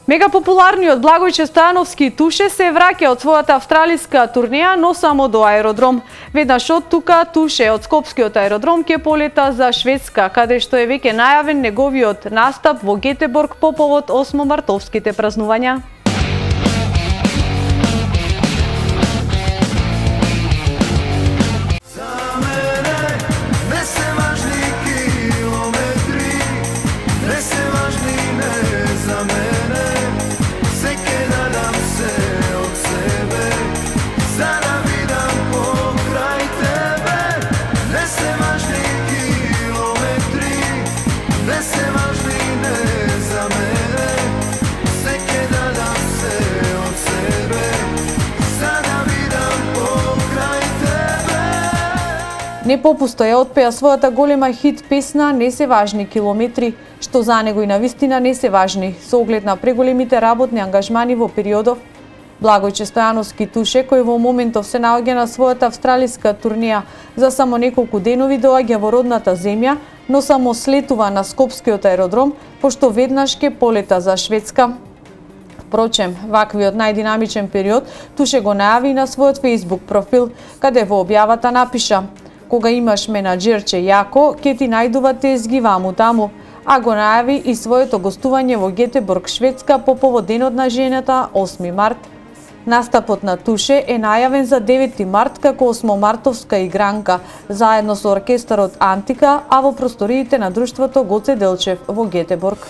Мегапопуларниот Благојче Стојановски и Туше се враќа од својата австралиска турнеја, но само до аеродром. Веднаш од тука Туше од Скопскиот аеродром ќе полета за Шведска, каде што е веќе најавен неговиот настап во Гетеборг по повод 8 мартовските празнувања. Не попусто ја отпеа својата голема хит песна "Не се важни километри", што за него и навистина не се важни, со оглед на преголемите работни ангажмани во периодов. Благојче Стојановски Туше, кој во моментов се наоѓа на својата австралиска турнеја, за само неколку денови доаѓа во родната земја, но само слетува на Скопскиот аеродром, пошто веднаш ќе полета за Шведска. Впрочем, ваквиот најдинамичен период Туше го најави на својот Facebook профил, каде во објавата напиша: "Кога имаш менаџерче јако, ке ти најдува тезги ваму-таму", а го најави и своето гостување во Гетеборг, Шведска по повод Денот на жената 8 март. Настапот на Туше е најавен за 9 март како 8-мартовска игранка, заедно со оркестарот Антика, а во просториите на друштвото Гоце Делчев во Гетеборг.